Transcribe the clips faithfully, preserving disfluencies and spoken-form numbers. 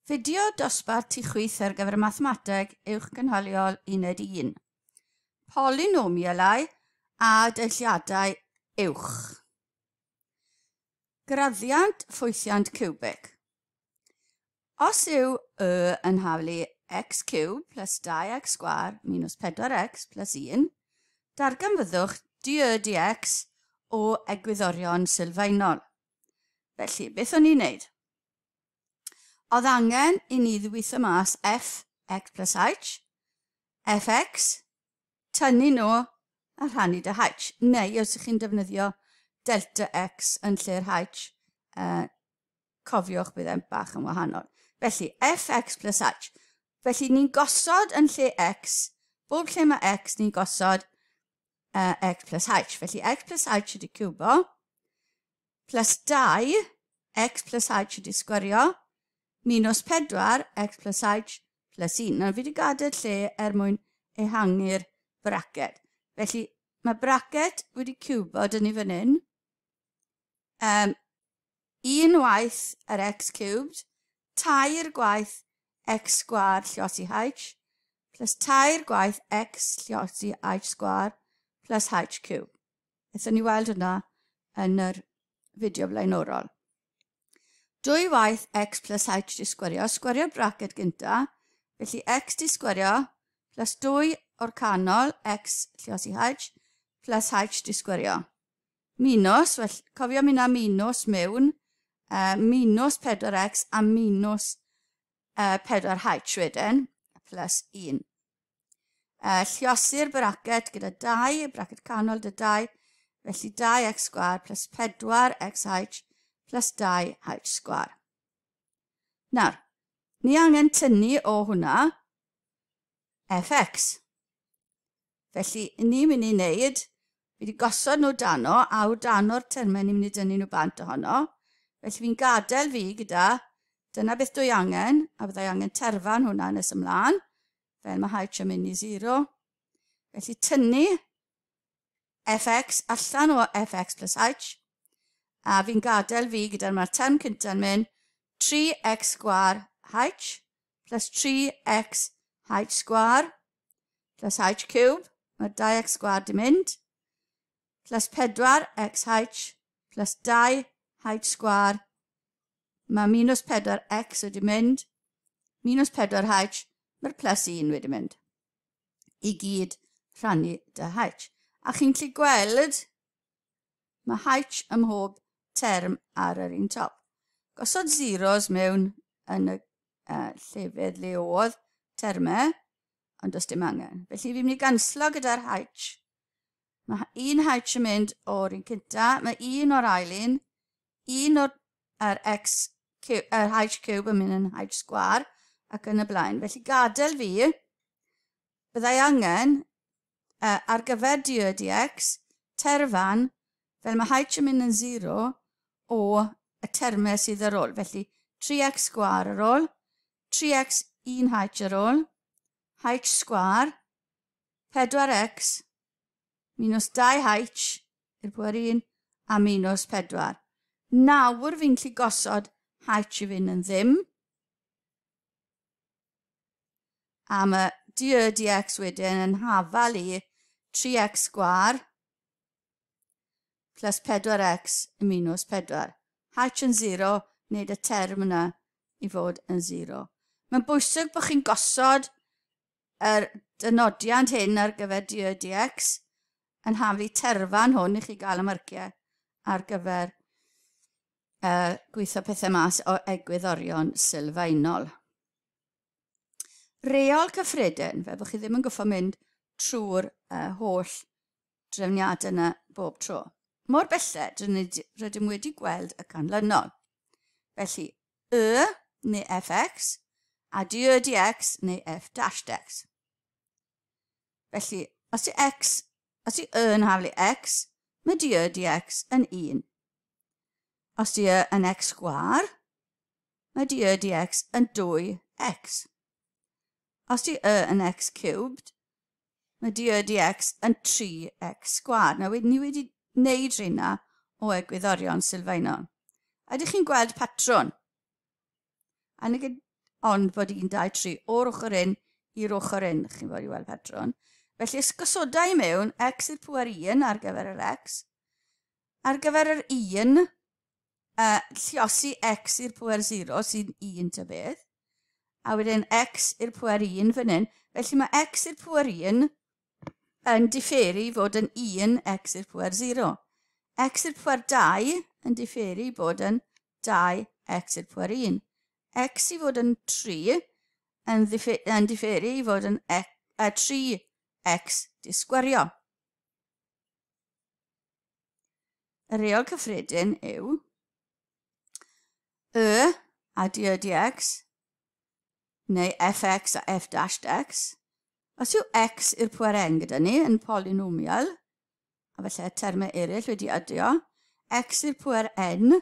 Fideo dosbarth tu chwith ar gyfer mathemateg uwchgynhaliol uned un. Polynomialau a deilliadau uwch. Graddiant ffwythiant ciwbig. Os yw y yn haflu x ciwb plus dau x sgwâr minus pedwar x plus un, darganfyddwch dy dx o egwyddorion sylfaenol. Felly, beth o'n i'n neud? Oedd angen i ni ddwytho mas f x plus h, fx, tynnu nhw a rhannu dy h. Neu os ydych chi'n defnyddio delta x yn lle'r h, uh, cofiwch bydd e'n bach yn wahanol. Felly, fx plus h. Felly, ni'n gosod yn lle x, bob lle mae x, ni'n gosod uh, x plus h. Felly, x plus h ydy ciwbo, plus dau, x plus h ydy sgwario, minus pedwar, x plus h plus un. Nawr, fi wedi gadael lle er mwyn ehangu'r braced. Felly, mae braced wedi ciwbo dyn ni fan hyn. Um, un waith yr x cubed, tair gwaith x sgwâr lliosi h, plus tair gwaith x lliosi h sgwâr plus h cube. Aethon ni weld hwnna yn yr fideo blaenorol. Dwy waith x plus h di sgwario, sgwario'r braced gynta, felly x di sgwario plus dwy o'r canol x lliosi h plus h di sgwario. Minus, well, cofio mynd â minus mewn, uh, minus pedwar x a minus uh, pedwar h wedyn, plus un. Uh, lliosi'r braced gyda dau, braced canol dy dau, felly dau x sgwâr plus pedwar x h plus dau h sgwâr. Nawr, ni angen tynnu o hwnna fx. Felly, ni'n mynd i wneud, fi wedi gosod nhw dano, a o dano'r termau ni'n mynd i dynnu nhw bant ohono. Felly fi'n gadael fi gyda, dyna beth dwi angen, a byddai angen terfan hwnna nes ymlaen, fel mae h yn mynd i zero. Felly tynnu fx allan o fx plus h, a fi'n gadael fi gyda'r mae'r term cynta'n mynd tri x sgwâr h plus tri x h sgwâr plus h cube, mae'r dau x sgwâr di mynd, plus pedwar x h plus dau h sgwâr, mae minus pedwar x wedi mynd, minus pedwar h, mae'r plus un wedi mynd. I gyd rhannu dy h. A chi'n gallu gweld, mae h ym mhob term ar yr un top. Gosod zeros mewn yn y uh, llefydd le oedd termau, ond does dim angen. Felly fi'n mynd i ganslo gyda'r h. Mae un h yn mynd o'r un cynta, mae un o'r ail un, un o'r er x, er h cube yn mynd yn h sgwâr ac yn y blaen. Felly gadael fi, byddai angen uh, ar gyfer dy dx, terfan, fel mae h yn mynd yn zero o y termau sydd ar ôl. Felly tri x sgwâr ar ôl, tri x un h ar ôl, h sgwâr, pedwar x, minus dau h i'r pwer un, a minus pedwar. Nawr fi'n gallu gosod h i fynd yn ddim. A mae dy dx wedyn yn hafal i tri x sgwâr plus pedwar x minus pedwar. H yn zero, wneud y term yna i fod yn zero. Mae'n bwysig bod chi'n gosod yr dynodiant hyn ar gyfer dy dx yn haflu terfan hwn i chi gael y marciau ar gyfer uh, gweithio pethau mas o egwyddorion sylfaenol. Reol cyffredin, fel bod chi ddim yn goffo mynd trwy'r uh, holl drefniadau yna bob tro. Mor belled, rydym wedi gweld y canlynol. Felly, y neu fx a dy dx neu f dash dx. Felly, os yw x, os yw y yn haflu x, mae dy dx yn un. Os yw y yn x sgwâr, mae dy dx yn dwy x. Os yw y yn x cubed, mae dy dx yn tri x sgwâr. Nawr, ni wedi wneud rheina o egwyddorion sylfaenol. A ydych chi'n gweld patrwn? A ond bod un, dau, tri o'r ochr un i'r ochr un, chi'n fod i weld patrwn. Felly, os gosoda i mewn x i'r pŵer un ar gyfer yr x, ar gyfer yr un, uh, lliosi x i'r pŵer sero sy'n un ta beth, a wedyn x i'r pŵer un fan hyn. Felly mae x i'r pŵer un yn differu fod yn un x i'r pŵer sero. X i'r pŵer dau yn differu bod yn dau x i'r pŵer un. X i fod yn tri yn, yn differu i fod yn tri x disgwario. Y reol cyffredin yw y a d y dx neu fx a f dash x. Os yw x i'r pŵer n gyda ni yn polynomial, a falle termau eraill wedi adio, x i'r pŵer n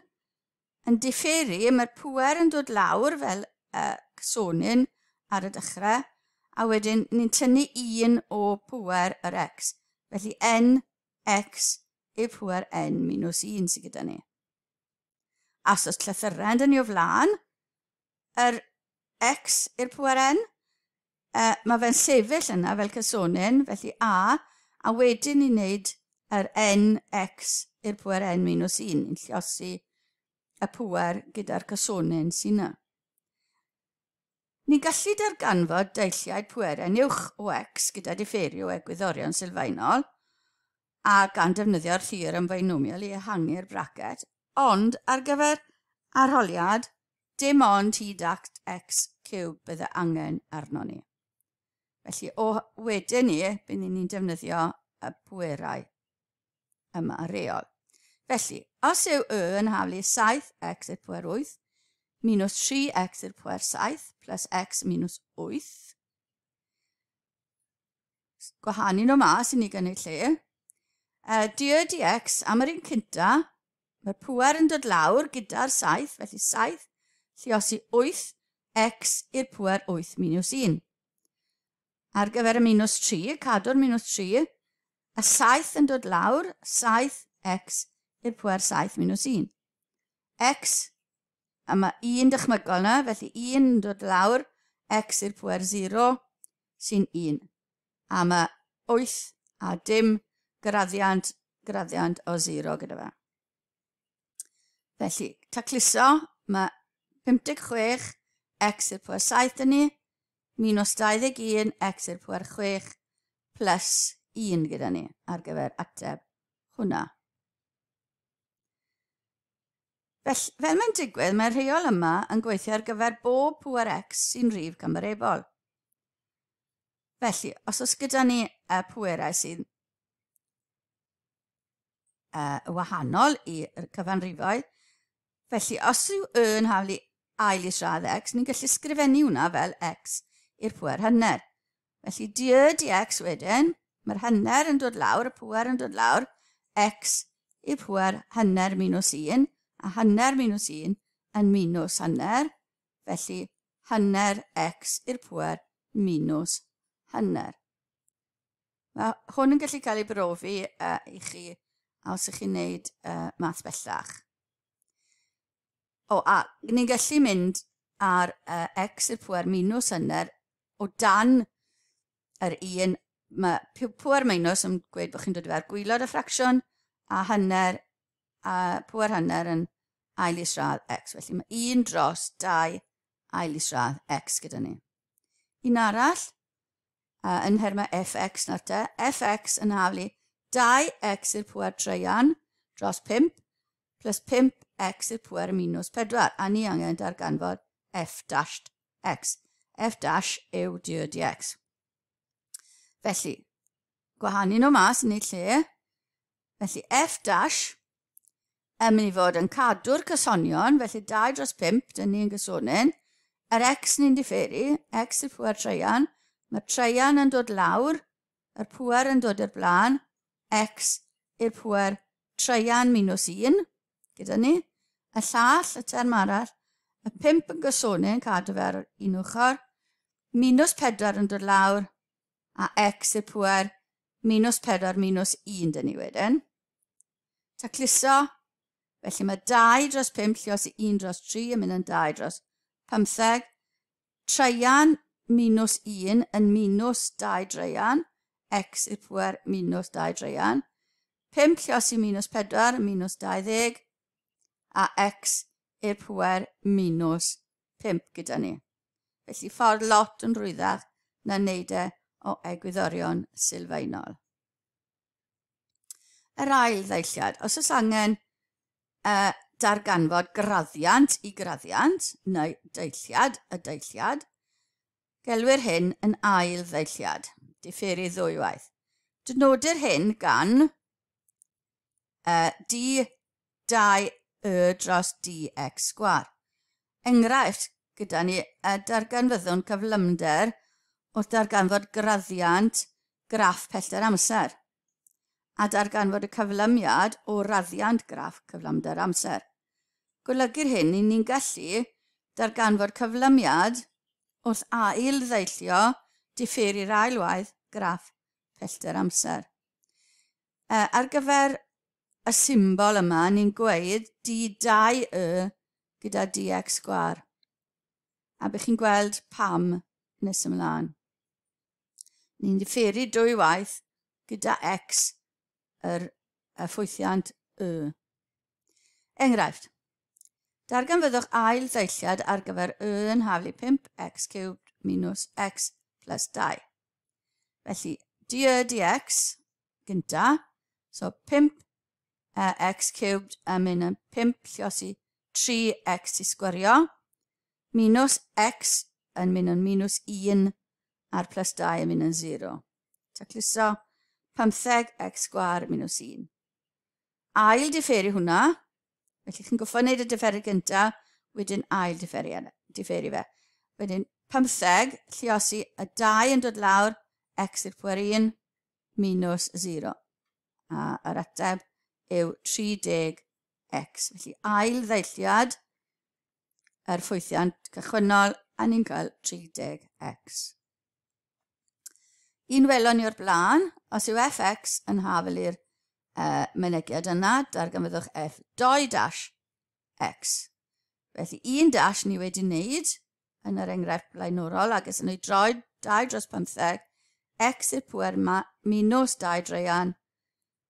yn differu, mae'r pŵer yn dod lawr fel uh, cysonyn ar y dechrau, a wedyn ni'n tynnu un o pŵer yr x. Felly n x i'r pŵer n minus un sydd gyda ni. A os oes llythyren dyn ni o flaen, yr x i'r pŵer n, uh, mae fe'n sefyll yna fel cysonyn, felly a, a wedyn ni'n neud yr n x i'r pŵer n minus un, ni'n lliosi y pŵer gyda'r cysonyn sy'n yna. Ni'n gallu darganfod deilliaid pwerau'n uwch o x gyda differio egwyddorion sylfaenol a gan defnyddio'r theorem binomial i ehangu'r braced, ond ar gyfer arholiad, dim ond hyd at x ciwb bydde angen arno ni. Felly, o wedyn ni, byddwn ni'n defnyddio y pwerau yma reol. Felly, os yw y yn haflu saith x i'r pwer wyth, minus tri x i'r pwer saith plus x minus wyth. Gwahanu nhw mas i ni gynnig lle. Uh, d y dx am yr un cynta, mae'r pŵer yn dod lawr gyda'r saith, felly saith lliosi wyth x i'r pŵer wyth minus un. Ar gyfer y minus tri, cadw'r minus tri, y saith yn dod lawr, saith x i'r pŵer saith minus un. X, a mae un dychmygol yna, felly un yn dod lawr, x i'r pŵer sero sy'n un. A mae wyth a dim graddiant, graddiant o sero gyda fe. Felly, tacluso, mae pump deg chwech x i'r pŵer saith dyn ni, minus dau ddeg un x i'r pŵer chwech plus un gyda ni ar gyfer ateb hwnna. Felly, fel mae'n digwydd, mae'r rheol yma yn gweithio ar gyfer bob pŵer x sy'n rhif cymarebol. Felly, os oes gyda ni y pwerau sy'n uh, wahanol i'r cyfanrifoedd, felly os yw y yn haflu ail isradd x, ni'n gallu sgrifennu hwnna fel x i'r pŵer hanner. Felly, d y dx wedyn, mae'r hanner yn dod lawr, y pŵer yn dod lawr, x i'r pŵer hanner minus un, a hanner minus un yn minus hanner, felly hanner x i'r pŵer minus hanner. Mae hwn yn gallu cael ei brofi uh, i chi os ych chi'n gwneud uh, math bellach. O, a ni'n gallu mynd ar uh, x i'r pŵer minus hanner o dan yr un. Mae pŵer minus yn gweud bod chi'n dod i fer gwaelod y ffracsiwn a hanner a pŵer hanner yn ail isradd x. Felly mae un dros dau ail isradd x gyda ni. Un arall, uh, yn nhermau fx nawr te, fx yn haflu dau x i'r pŵer treian dros pump plus pump x i'r pŵer minus pedwar. A ni angen darganfod f dash x. F dash yw d y dx. Felly, gwahanu nhw mas yn eu lle. Felly, f dash yn mynd i fod yn cadw'r cysonion, felly dau dros pump, dyn ni'n gysonyn. Yr x ni'n differu, x i'r pŵer treian, mae'r treian yn dod lawr, yr pŵer yn dod i'r blaen, x i'r pŵer treian minus un, gyda ni. Y llall, y term arall, y pump yn gysonyn, cadw fe ar un ochr, minus pedwar yn dod lawr, a x i'r pŵer minus pedwar minus un dyn ni wedyn. Tacluso, felly mae dau dros pump lliosi un dros tri yn mynd yn dau dros pymtheg. Traean minus un yn minus dau draean, x i'r pwer minus dau draean. pump lliosi minus pedwar, minus dau ddeg, a x i'r pwer minus pump gyda ni. Felly ffordd lot yn rhwyddach na wneud e o egwyddorion sylfaenol. Yr ail ddeilliad, os oes angen uh, darganfod graddiant i graddiant, neu deilliad y deilliad, gelwir hyn yn ail ddeilliad, diferu ddwywaith. Dynodir hyn gan uh, d dau y dros dx sgwâr. Enghraifft gyda ni y darganfyddwn cyflymder wrth darganfod graddiant graff pellter amser a darganfod y cyflymiad o raddiant graff cyflymder amser. Golygu'r hyn i ni'n gallu darganfod cyflymiad wrth ail ddeillio diferu'r ailwaith graff pellter amser. E, ar gyfer y symbol yma, ni'n gweud d dau y gyda dx sgwâr. A bych chi'n gweld pam nes ymlaen. Ni'n diferu dwy waith gyda x yr y ffwythiant y. Enghraifft, darganfyddwch ail ddeilliad ar gyfer y yn haflu pump x cubed minus x plus dau. Felly, dy dx gynta, so pump x cubed yn mynd yn pump lliosi tri x i sgwario, minus x yn mynd yn minus un a'r plus dau yn mynd yn zero. Tacluso pymtheg x sgwâr minus un. Ail diferu hwnna, felly chi'n goffo wneud y diferu gynta, wedyn ail diferu, diferu fe. Wedyn pymtheg lliosi y dau yn dod lawr, x i'r pwer un, minus zero. A yr ateb yw tri deg x. Felly ail ddeilliad yr ffwythiant cychwynnol, a ni'n cael tri deg x. Un welon ni o'r blaen, os yw fx yn hafel i'r uh, mynegiad yna, darganfyddwch f dau dash x. Felly un dash ni wedi wneud yn yr enghraifft blaenorol, ac ys yn ei droi dau dros pymtheg, x i'r pwer minus dau draean,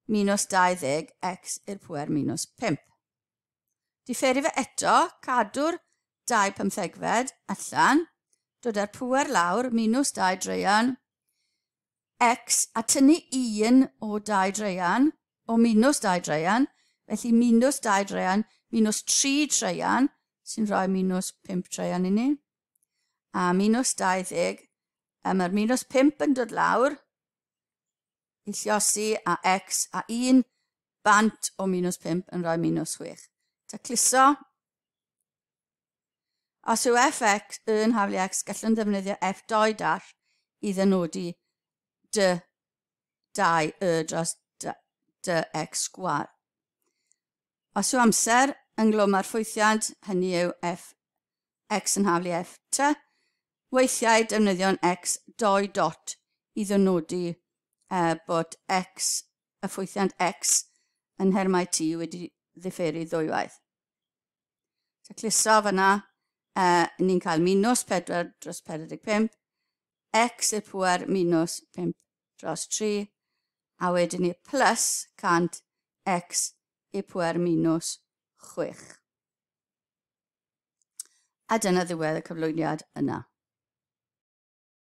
minus dau ddeg, x i'r pwer minus pump. Diferu fe eto, cadw'r dau pymthegfed allan, dod â'r pwer lawr, minus dau draean, x a tynnu un o dau draean, o minus dau draean, felly minus dau draean, minus tri traean, sy'n rhoi minus pump traean i ni, a minus dau ddeg, a mae'r minus pump yn dod lawr, i lliosi a x a un bant o minus pump yn rhoi minus chwech. Tacluso. Os yw fx yn haflu x, gallwn ddefnyddio f dau dash i ddynodi d dau y dros d, d x sgwâr. Os yw amser ynglwm â'r ffwythiant, hynny yw f x yn haflu f t, weithiau defnyddion x dau dot i ddynodi uh, bod x, y ffwythiant x yn nhermau t wedi ddifferu ddwywaith. Tacluso fyna, uh, ni'n cael minus pedwar dros pedwar deg pump, x i'r pwer minus pump dros tri, a wedyn ni plus cant x i'r pwer minus chwech. A dyna ddiwedd y cyflwyniad yna.